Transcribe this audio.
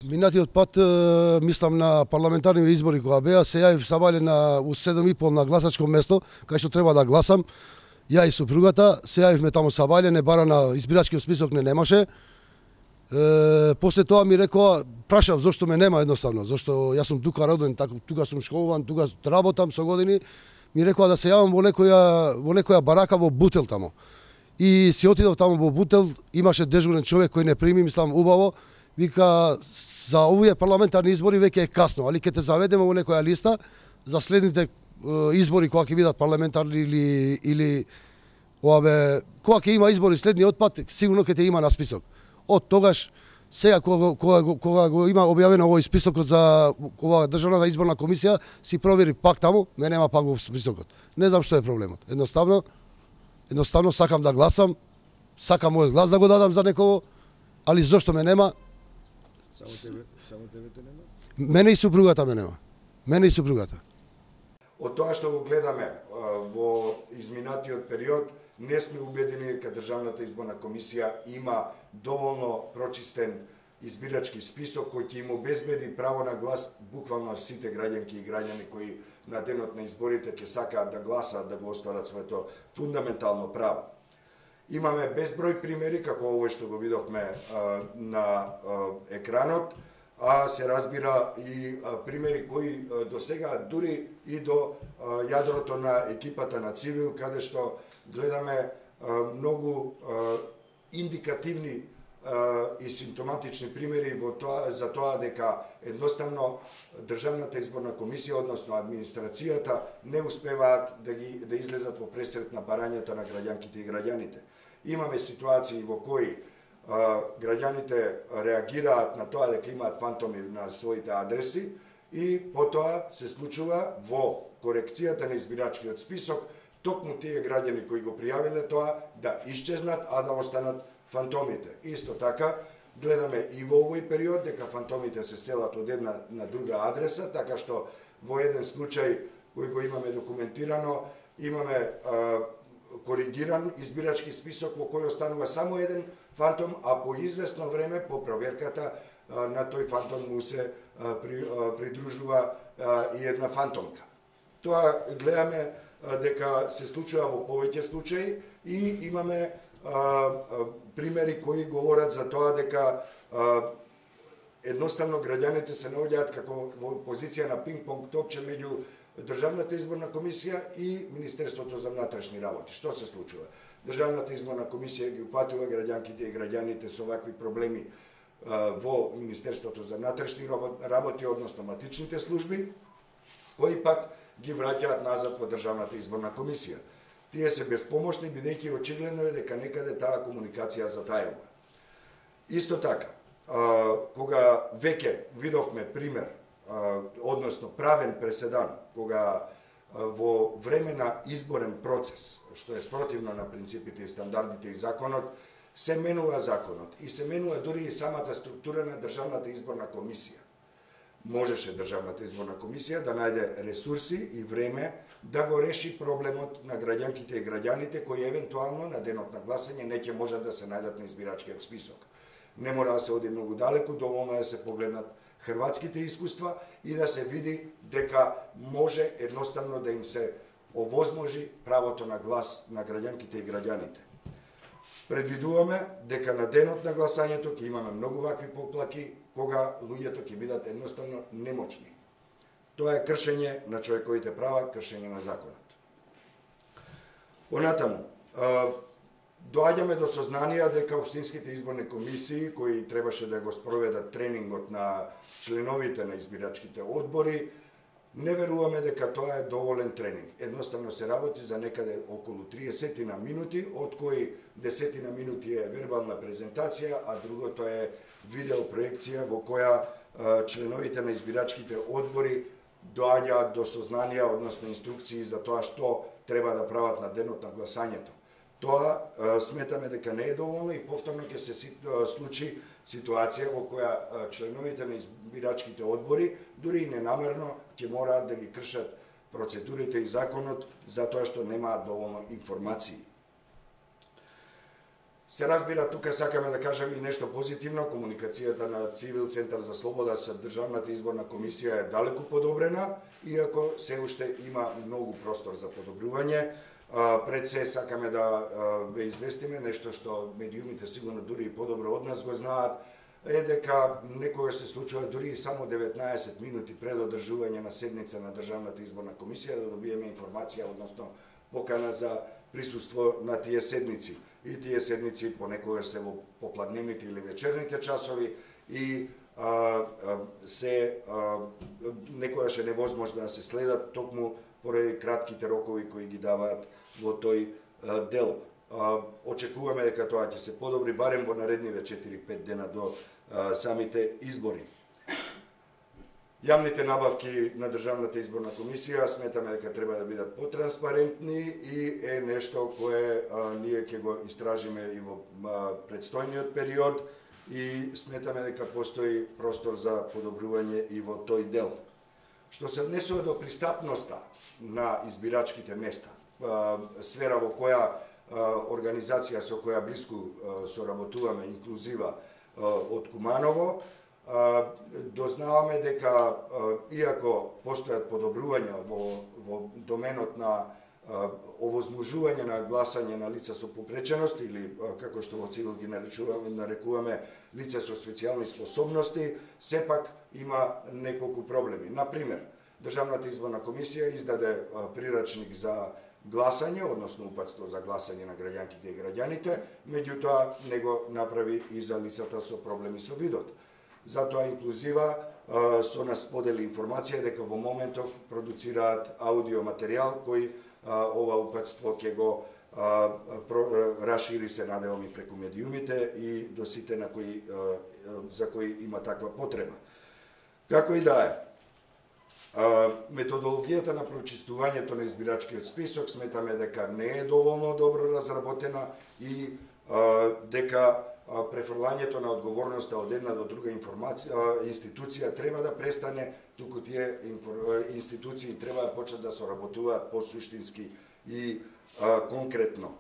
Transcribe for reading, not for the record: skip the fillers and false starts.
Минатиот пат, мислам на парламентарни избори кога беа, се јавив сабајле у 7:30 на гласачко место, кај што треба да гласам. Ја и супругата, се јавивме таму сабајле, не бара на избирачкиот список не немаше. После тоа ми рекоа, прашав зошто ме нема едноставно, зошто јас сум тука роден, тука сум школуван, тука работам со години. Ми рекоа да се јавам во некоја барака во Бутел таму. И си отидов таму во Бутел, имаше дежурен човек кој не прими, мислам убаво. Вика, за овие парламентарни избори веќе е касно, али ќе те заведеме во некоја листа за следните избори кога ќе бидат парламентарни или кога ќе има избори следниот пат, сигурно ќе те има на список. Од тогаш, сега кога го има објавено овој списокот за оваа државната изборна комисија, си провери пак таму, ме нема пак во списокот. Не знам што е проблемот. Едноставно сакам да гласам, сакам мојот глас да го дадам за некого, али зошто ме нема? Само тебе те нема? Мене и супругата ме нема. Мене и супругата. Од тоа што го гледаме во изминатиот период, не сме убедени дека Државната изборна комисија има доволно прочистен избирачки список кој ќе им обезбеди право на глас буквално сите граѓанки и граѓани кои на денот на изборите ќе сакаат да гласаат, да го остварат своето фундаментално право. Имаме безброј примери, како овој што го видовме на екранот, а се разбира и примери кои до сега, дури и до јадрото на екипата на Цивил, каде што гледаме многу индикативни и симптоматични примери за тоа дека едноставно Државната изборна комисија, односно администрацијата, не успеваат да излезат во пресрет на барањата на граѓанките и граѓаните. Имаме ситуации во кои граѓаните реагираат на тоа дека имаат фантоми на своите адреси и потоа се случува во корекцијата на избирачкиот список токму тие граѓани кои го пријавиле тоа да исчезнат, а да останат фантомите. Исто така, гледаме и во овој период дека фантомите се селат од една на друга адреса, така што во еден случај кој го имаме документирано, имаме коригиран избирачки список во кој останува само еден фантом, а по известно време, по проверката, на тој фантом му се придружува и една фантомка. Тоа гледаме дека се случува во повеќе случаи и имаме примери кои говорат за тоа дека едноставно граѓаните се наоѓаат како во позиција на пинг-понг топче меѓу Државната изборна комисија и Министерството за внатрешни работи. Што се случува? Државната изборна комисија ги упатува граѓанките и граѓаните со вакви проблеми во Министерството за внатрешни работи, односно матичните служби, кои пак ги враќаат назад во Државната изборна комисија. Тие се безпомошни, бидејќи очигледно е дека некаде таа комуникација затајува. Исто така, кога веќе видовме пример, односно правен преседан, кога во време на изборен процес, што е спротивно на принципите и стандардите и законот, се менува законот и се менува дури и самата структура на Државната изборна комисија. Можеше Државната изборна комисија да најде ресурси и време да го реши проблемот на граѓанките и граѓаните кои евентуално на денот на гласање не ќе можат да се најдат на избирачкиот список. Не мора да се оди многу далеку, доволно да се погледнат хрватските искуства и да се види дека може едноставно да им се овозможи правото на глас на граѓанките и граѓаните. Предвидуваме дека на денот на гласањето ќе имаме многу вакви поплаки кога луѓето ќе бидат едноставно немоќни. Тоа е кршење на човековите права, кршење на законот. Понатаму, доаѓаме до сознанија дека општинските изборни комисии, кои требаше да го спроведат тренингот на членовите на избирачките одбори, не веруваме дека тоа е доволен тренинг. Едноставно се работи за некаде околу 30 на минути, од кои 10 на минути е вербална презентација, а другото е видеопроекција во која членовите на избирачките одбори доаѓаат до сознанија, односно инструкции за тоа што треба да прават на денот на гласањето. Тоа сметаме дека не е доволно и повторно ќе се случи ситуација во која членовите на избирачките одбори, дури и ненамерно, ќе мораат да ги кршат процедурите и законот за тоа што немаат доволно информации. Се разбира, тука сакаме да кажеме и нешто позитивно. Комуникацијата на Цивил Центар за слобода со Државната изборна комисија е далеку подобрена, иако се уште има многу простор за подобрување. Пред се сакаме да ве известиме нешто што медиумите сигурно дури и подобро од нас го знаат, е дека некогаш се случува дури и само 19 минути пред одржување на седница на Државната изборна комисија да добиеме информација, односно покана за присуство на тие седници. И тие седници понекогаш се во попладневните или вечерните часови и некогаш е невозможно да се следат токму поради кратките рокови кои ги даваат во тој дел. Очекуваме дека тоа ќе се подобри барем во наредниве 4-5 дена до самите избори. Јавните набавки на Државната изборна комисија сметаме дека треба да бидат потранспарентни и е нешто кое ние ќе го истражиме и во предстојниот период и сметаме дека постои простор за подобрување и во тој дел. Што се однесува до пристапноста на избирачките места, сфера во која организација со која блиску соработуваме, инклузива од Куманово, дознаваме дека иако постојат подобрувања во доменот на овозможување на гласање на лица со попреченост или како што во Цивил ги нарекуваме лица со специјални способности, сепак има неколку проблеми. Например, Државната изборна комисија издаде прирачник за гласање, односно упатство за гласање на граѓанките и граѓаните, меѓутоа не го направи и за лицата со проблеми со видот. Затоа инклузива со нас сподели информација дека во моментов продуцираат аудио материјал кој ова упатство ќе го рашири се надевам и преку медиумите и до сите на кои за кои има таква потреба. Како и да е, методологијата на прочистувањето на избирачкиот список сметаме дека не е доволно добро разработена и дека префрлањето на одговорноста од една до друга институција треба да престане, туку тие институции треба да почнат да соработуваат посуштински и конкретно.